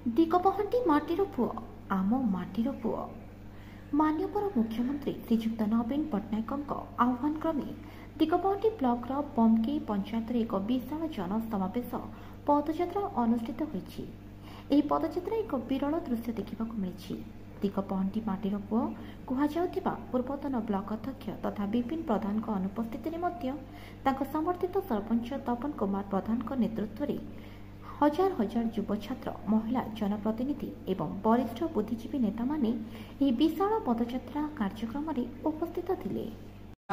ଦିଗପହଣ୍ଡି ମାଟିର ପୁଅ, ଆମ ମାଟିର ପୁଅ। ମାନ୍ୟବର ମୁଖ୍ୟମନ୍ତ୍ରୀ ଶ୍ରୀଯୁକ୍ତ ନବୀନ ପଟ୍ଟନାୟକଙ୍କ ଆହ୍ୱାନ କ୍ରମେ ଦିଗପହଣ୍ଡି ବ୍ଲକର ବମକେଇ ପଞ୍ଚାୟତରେ ଏକ ବିଶାଳ ଜନସମାବେଶ ପଦଯାତ୍ରା ଅନୁଷ୍ଠିତ ହୋଇଛି। ଏହି ପଦଯାତ୍ରା ଏକ ବିରଳ ଦୃଶ୍ୟ ଦେଖିବାକୁ ମିଳିଛି। ଦିଗପହଣ୍ଡି ମାଟିର ପୁଅ କୁହାଯାଉଥିବା ପୂର୍ବତନ ବ୍ଲକ ଅଧ୍ୟକ୍ଷ ତଥା ବିପିନ ପ୍ରଧାନଙ୍କ ଅନୁପସ୍ଥିତିରେ ମଧ୍ୟ ତାଙ୍କ ସମର୍ଥିତ ସରପଞ୍ଚ ତପନ କୁମାର ପ୍ରଧାନଙ୍କ ନେତୃତ୍ୱରେ ହଜାର ହଜାର ଯୁବ, ଛାତ୍ର, ମହିଳା, ଜନପ୍ରତିନିଧି ଏବଂ ବରିଷ୍ଠ ବୁଦ୍ଧିଜୀବୀ ନେତାମାନେ ଏହି ବିଶାଳ ପଦଯାତ୍ରା କାର୍ଯ୍ୟକ୍ରମରେ ଉପସ୍ଥିତ ଥିଲେ।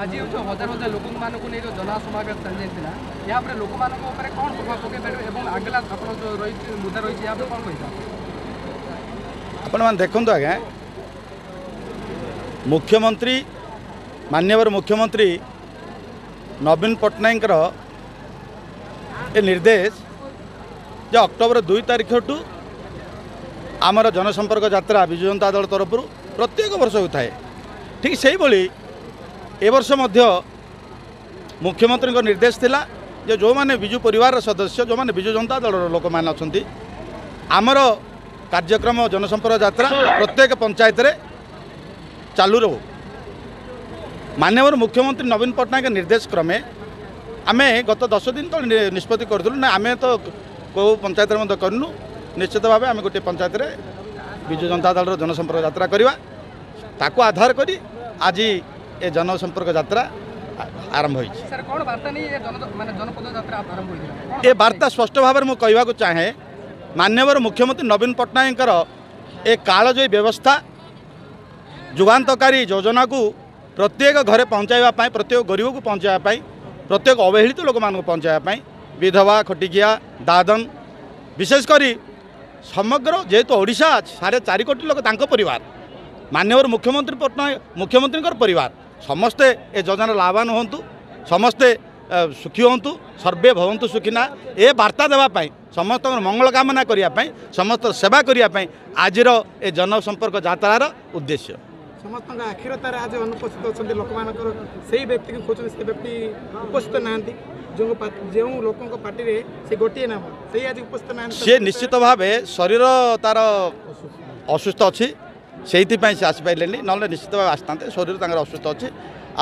ଆଜି ହେଉଛି ହଜାର ହଜାର ଲୋକମାନଙ୍କୁ ନେଇ ଯେଉଁ ଜନସମାବେଶ ଚାଲିଯାଇଥିଲା, ଏହାପରେ ଲୋକମାନଙ୍କ ଉପରେ କ'ଣ ପ୍ରଭାବ ପକାଇ ପାରିବ ଏବଂ ଆଗଲା ଆପଣ ଯେଉଁ ରହିଛି ମୁଦ୍ଦା ରହିଛି, ଏହା ଉପରେ କ'ଣ କହିବେ? ଆପଣମାନେ ଦେଖନ୍ତୁ ଆଜ୍ଞା, ମୁଖ୍ୟମନ୍ତ୍ରୀ, ମାନ୍ୟବର ମୁଖ୍ୟମନ୍ତ୍ରୀ ନବୀନ ପଟ୍ଟନାୟକଙ୍କର ଏ ନିର୍ଦ୍ଦେଶ ଯେ ଅକ୍ଟୋବର 2 ତାରିଖଠୁ ଆମର ଜନସମ୍ପର୍କ ଯାତ୍ରା ବିଜୁ ଜନତା ଦଳ ତରଫରୁ ପ୍ରତ୍ୟେକ ବର୍ଷ ହୋଇଥାଏ। ଠିକ୍ ସେଇଭଳି ଏ ବର୍ଷ ମଧ୍ୟ ମୁଖ୍ୟମନ୍ତ୍ରୀଙ୍କ ନିର୍ଦ୍ଦେଶ ଥିଲା ଯେ ଯେଉଁମାନେ ବିଜୁ ପରିବାରର ସଦସ୍ୟ, ଯେଉଁମାନେ ବିଜୁ ଜନତା ଦଳର ଲୋକମାନେ ଅଛନ୍ତି, ଆମର କାର୍ଯ୍ୟକ୍ରମ ଜନସମ୍ପର୍କ ଯାତ୍ରା ପ୍ରତ୍ୟେକ ପଞ୍ଚାୟତରେ ଚାଲୁ ରହୁ। ମାନ୍ୟବର ମୁଖ୍ୟମନ୍ତ୍ରୀ ନବୀନ ପଟ୍ଟନାୟକ ନିର୍ଦ୍ଦେଶ କ୍ରମେ ଆମେ ଗତ 10 ଦିନ ତଳେ ନିଷ୍ପତ୍ତି କରିଥିଲୁ ନା, ଆମେ ତ କେଉଁ ପଞ୍ଚାୟତରେ ମଧ୍ୟ କରିନୁ, ନିଶ୍ଚିତ ଭାବେ ଆମେ ଗୋଟିଏ ପଞ୍ଚାୟତରେ ବିଜୁ ଜନତା ଦଳର ଜନସମ୍ପର୍କ ଯାତ୍ରା କରିବା। ତାକୁ ଆଧାର କରି ଆଜି ଏ ଜନସମ୍ପର୍କ ଯାତ୍ରା ଆରମ୍ଭ ହୋଇଛି। ଏ ବାର୍ତ୍ତା ସ୍ପଷ୍ଟ ଭାବରେ ମୁଁ କହିବାକୁ ଚାହେଁ, ମାନ୍ୟବର ମୁଖ୍ୟମନ୍ତ୍ରୀ ନବୀନ ପଟ୍ଟନାୟକଙ୍କର ଏ କାଳଜୟୀ ବ୍ୟବସ୍ଥା, ଯୁଗାନ୍ତକାରୀ ଯୋଜନାକୁ ପ୍ରତ୍ୟେକ ଘରେ ପହଞ୍ଚାଇବା ପାଇଁ, ପ୍ରତ୍ୟେକ ଗରିବକୁ ପହଞ୍ଚାଇବା ପାଇଁ, ପ୍ରତ୍ୟେକ ଅବହେଳିତ ଲୋକମାନଙ୍କୁ ପହଞ୍ଚାଇବା ପାଇଁ, ବିଧବା, ଖଟିକିଆ, ଦାଦନ, ବିଶେଷ କରି ସମଗ୍ର ଯେହେତୁ ଓଡ଼ିଶା 4.5 କୋଟି ଲୋକ ତାଙ୍କ ପରିବାର, ମାନ୍ୟବର ମୁଖ୍ୟମନ୍ତ୍ରୀ ପଟ୍ଟନାୟକ ମୁଖ୍ୟମନ୍ତ୍ରୀଙ୍କର ପରିବାର, ସମସ୍ତେ ଏ ଯୋଜନାର ଲାଭବାନ ହୁଅନ୍ତୁ, ସମସ୍ତେ ସୁଖୀ ହୁଅନ୍ତୁ, ସର୍ବେ ଭବନ୍ତୁ ସୁଖିନା, ଏ ବାର୍ତ୍ତା ଦେବା ପାଇଁ, ସମସ୍ତଙ୍କର ମଙ୍ଗଳ କାମନା କରିବା ପାଇଁ, ସମସ୍ତ ସେବା କରିବା ପାଇଁ ଆଜିର ଏ ଜନସମ୍ପର୍କ ଯାତ୍ରାର ଉଦ୍ଦେଶ୍ୟ। ସମସ୍ତଙ୍କ ଆଖିର ତାରା ଆଜି ଅନୁପସ୍ଥିତ ଅଛନ୍ତି। ଲୋକମାନଙ୍କର ସେଇ ବ୍ୟକ୍ତିକୁ ଖୋଜୁଛନ୍ତି, ସେ ବ୍ୟକ୍ତି ଉପସ୍ଥିତ ନାହାନ୍ତି। ଯେଉଁ ଯେଉଁ ଲୋକଙ୍କ ପାର୍ଟିରେ ସେ ଗୋଟିଏ ନାମ, ସେଇ ଆଜି ଉପସ୍ଥିତ ନାହାନ୍ତି। ସେ ନିଶ୍ଚିତ ଭାବେ ଶରୀର ତାର ଅସୁସ୍ଥ ଅଛି, ସେଇଥିପାଇଁ ସେ ଆସିପାରିଲେନି, ନହେଲେ ନିଶ୍ଚିତ ଭାବେ ଆସିଥାନ୍ତେ। ଶରୀର ତାଙ୍କର ଅସୁସ୍ଥ ଅଛି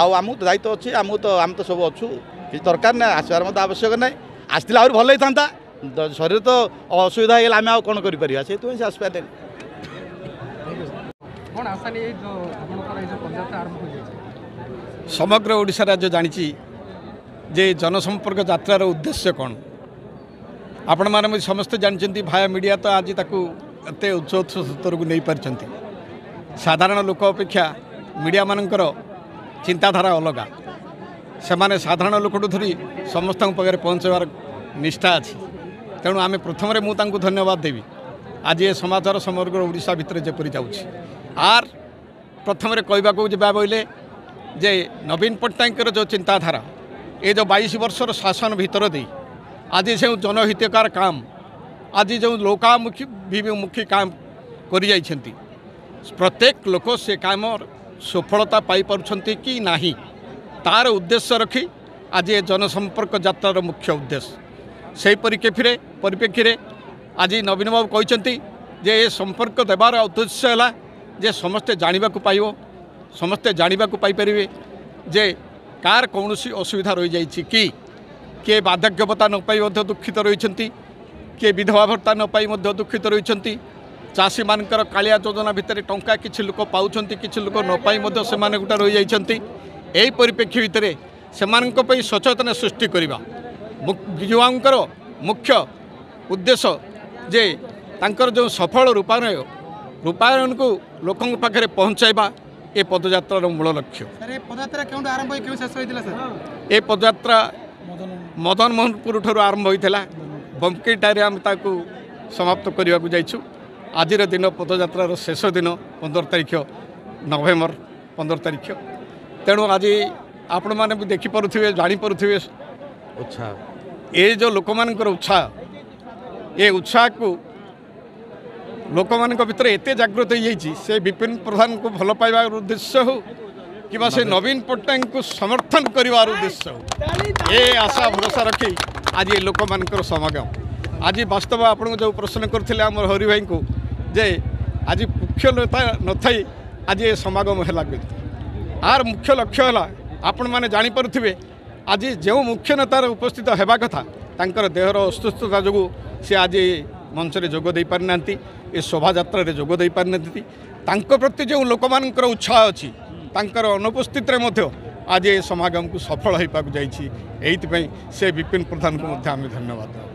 ଆଉ ଆମକୁ ତ ଦାୟିତ୍ୱ ଅଛି, ଆମକୁ ତ ଆମେ ତ ସବୁ ଅଛୁ, କିଛି ଦରକାର ନାହିଁ, ଆସିବାର ମଧ୍ୟ ଆବଶ୍ୟକ ନାହିଁ। ଆସିଥିଲେ ଆହୁରି ଭଲ ହେଇଥାନ୍ତା। ଶରୀର ତ ଅସୁବିଧା ହେଇଗଲା, ଆମେ ଆଉ କ'ଣ କରିପାରିବା? ସେଇଥିପାଇଁ ସେ ଆସିପାରିଲେନି। କ'ଣ ଆଶା ନେଇ ଯେଉଁ ଆପଣଙ୍କର ଏଇ ଯେଉଁ ପଦଯାତ୍ରା ଆରମ୍ଭ ହୋଇଯାଇଛି? ସମଗ୍ର ଓଡ଼ିଶା ରାଜ୍ୟ ଜାଣିଛି ଯେ ଜନସମ୍ପର୍କ ଯାତ୍ରାର ଉଦ୍ଦେଶ୍ୟ କ'ଣ। ଆପଣମାନେ ମଧ୍ୟ ସମସ୍ତେ ଜାଣିଛନ୍ତି। ଭାୟା ମିଡ଼ିଆ ତ ଆଜି ତାକୁ ଏତେ ଉଚ୍ଚ ଉଚ୍ଚ ସ୍ତରକୁ ନେଇପାରିଛନ୍ତି। ସାଧାରଣ ଲୋକ ଅପେକ୍ଷା ମିଡ଼ିଆମାନଙ୍କର ଚିନ୍ତାଧାରା ଅଲଗା। ସେମାନେ ସାଧାରଣ ଲୋକଠୁ ଧରି ସମସ୍ତଙ୍କ ପାଖରେ ପହଞ୍ଚାଇବାର ନିଷ୍ଠା ଅଛି। ତେଣୁ ଆମେ ପ୍ରଥମରେ ମୁଁ ତାଙ୍କୁ ଧନ୍ୟବାଦ ଦେବି। ଆଜି ଏ ସମାଚାର ସମଗ୍ର ଓଡ଼ିଶା ଭିତରେ ଯେପରି ଯାଉଛି, ଆର୍ ପ୍ରଥମରେ କହିବାକୁ ଯିବା ବୋଇଲେ ଯେ ନବୀନ ପଟ୍ଟନାୟକଙ୍କର ଯେଉଁ ଚିନ୍ତାଧାରା, ଏ ଯେଉଁ 22 ବର୍ଷର ଶାସନ ଭିତର ଦେଇ ଆଜି ଯେଉଁ ଜନହିତକାର କାମ, ଆଜି ଯେଉଁ ଲୋକାମୁଖୀ ମୁଖୀ କାମ କରିଯାଇଛନ୍ତି, ପ୍ରତ୍ୟେକ ଲୋକ ସେ କାମର ସଫଳତା ପାଇପାରୁଛନ୍ତି କି ନାହିଁ, ତାର ଉଦ୍ଦେଶ୍ୟ ରଖି ଆଜି ଏ ଜନସମ୍ପର୍କ ଯାତ୍ରାର ମୁଖ୍ୟ ଉଦ୍ଦେଶ୍ୟ। ସେହି ପରିପ୍ରେକ୍ଷୀରେ ଆଜି ନବୀନ ବାବୁ କହିଛନ୍ତି ଯେ ଏ ସମ୍ପର୍କ ଦେବାର ଉଦ୍ଦେଶ୍ୟ ହେଲା ଯେ ସମସ୍ତେ ଜାଣିବାକୁ ପାଇବ, ସମସ୍ତେ ଜାଣିବାକୁ ପାଇପାରିବେ ଯେ କାହାର କୌଣସି ଅସୁବିଧା ରହିଯାଇଛି କି, କିଏ ବାର୍ଦ୍ଧକ୍ୟ ଭତ୍ତା ନ ପାଇ ମଧ୍ୟ ଦୁଃଖିତ ରହିଛନ୍ତି, କିଏ ବିଧବା ଭତ୍ତା ନ ପାଇ ମଧ୍ୟ ଦୁଃଖିତ ରହିଛନ୍ତି, ଚାଷୀମାନଙ୍କର କାଳିଆ ଯୋଜନା ଭିତରେ ଟଙ୍କା କିଛି ଲୋକ ପାଉଛନ୍ତି, କିଛି ଲୋକ ନ ପାଇ ମଧ୍ୟ ସେମାନେ ଗୋଟେ ରହିଯାଇଛନ୍ତି। ଏହି ପରିପ୍ରେକ୍ଷୀ ଭିତରେ ସେମାନଙ୍କ ପାଇଁ ସଚେତନ ସୃଷ୍ଟି କରିବା ବିଜୁବାବୁଙ୍କର ମୁଖ୍ୟ ଉଦ୍ଦେଶ୍ୟ, ଯେ ତାଙ୍କର ଯେଉଁ ସଫଳ ରୂପାୟନକୁ ଲୋକଙ୍କ ପାଖରେ ପହଞ୍ଚାଇବା ଏ ପଦଯାତ୍ରାର ମୂଳ ଲକ୍ଷ୍ୟ। ପଦଯାତ୍ରା କେଉଁଠୁ ଆରମ୍ଭ ହୋଇ କେଉଁ ଶେଷ ହୋଇଥିଲା ସାର୍? ଏ ପଦଯାତ୍ରା ମଦନ ମୋହନପୁର ଠାରୁ ଆରମ୍ଭ ହୋଇଥିଲା, ବମ୍କେଇଟାରେ ଆମେ ତାକୁ ସମାପ୍ତ କରିବାକୁ ଯାଇଛୁ। ଆଜିର ଦିନ ପଦଯାତ୍ରାର ଶେଷ ଦିନ, 15 ତାରିଖ ନଭେମ୍ବର 15 ତାରିଖ। ତେଣୁ ଆଜି ଆପଣମାନେ ବି ଦେଖିପାରୁଥିବେ, ଜାଣିପାରୁଥିବେ ଉତ୍ସାହ, ଏ ଯେଉଁ ଲୋକମାନଙ୍କର ଉତ୍ସାହ, ଏ ଉତ୍ସାହକୁ ଲୋକମାନଙ୍କ ଭିତରେ ଏତେ ଜାଗୃତ ହେଇଯାଇଛି, ସେ ବିପିନ ପ୍ରଧାନଙ୍କୁ ଭଲ ପାଇବାର ଉଦ୍ଦେଶ୍ୟ ହେଉ କିମ୍ବା ସେ ନବୀନ ପଟ୍ଟନାୟକଙ୍କୁ ସମର୍ଥନ କରିବାର ଉଦ୍ଦେଶ୍ୟ ହେଉ, ଏ ଆଶା ଭରସା ରଖି ଆଜି ଏ ଲୋକମାନଙ୍କର ସମାଗମ। ଆଜି ବାସ୍ତବ ଆପଣଙ୍କୁ ଯେଉଁ ପ୍ରଶ୍ନ କରିଥିଲେ ଆମର ହରି ଭାଇଙ୍କୁ ଯେ ଆଜି ମୁଖ୍ୟ ନେତା ନଥାଇ ଆଜି ଏ ସମାଗମ ହେଲା କେମିତି, ଆର ମୁଖ୍ୟ ଲକ୍ଷ୍ୟ ହେଲା ଆପଣମାନେ ଜାଣିପାରୁଥିବେ ଆଜି ଯେଉଁ ମୁଖ୍ୟ ନେତାର ଉପସ୍ଥିତ ହେବା କଥା ତାଙ୍କର ଦେହର ଅସୁସ୍ଥତା ଯୋଗୁଁ ସେ ଆଜି ମଞ୍ଚରେ ଯୋଗ ଦେଇପାରିନାହାନ୍ତି, ଏ ଶୋଭାଯାତ୍ରାରେ ଯୋଗ ଦେଇପାରିନାହାନ୍ତି। ତାଙ୍କ ପ୍ରତି ଯେଉଁ ଲୋକମାନଙ୍କର ଉତ୍ସାହ ଅଛି ତାଙ୍କର ଅନୁପସ୍ଥିତିରେ ମଧ୍ୟ ଆଜି ଏ ସମାଗମକୁ ସଫଳ ହୋଇବାକୁ ଯାଇଛି। ଏଇଥିପାଇଁ ସେ ବିପିନ ପ୍ରଧାନଙ୍କୁ ମଧ୍ୟ ଆମେ ଧନ୍ୟବାଦ ଦେବୁ।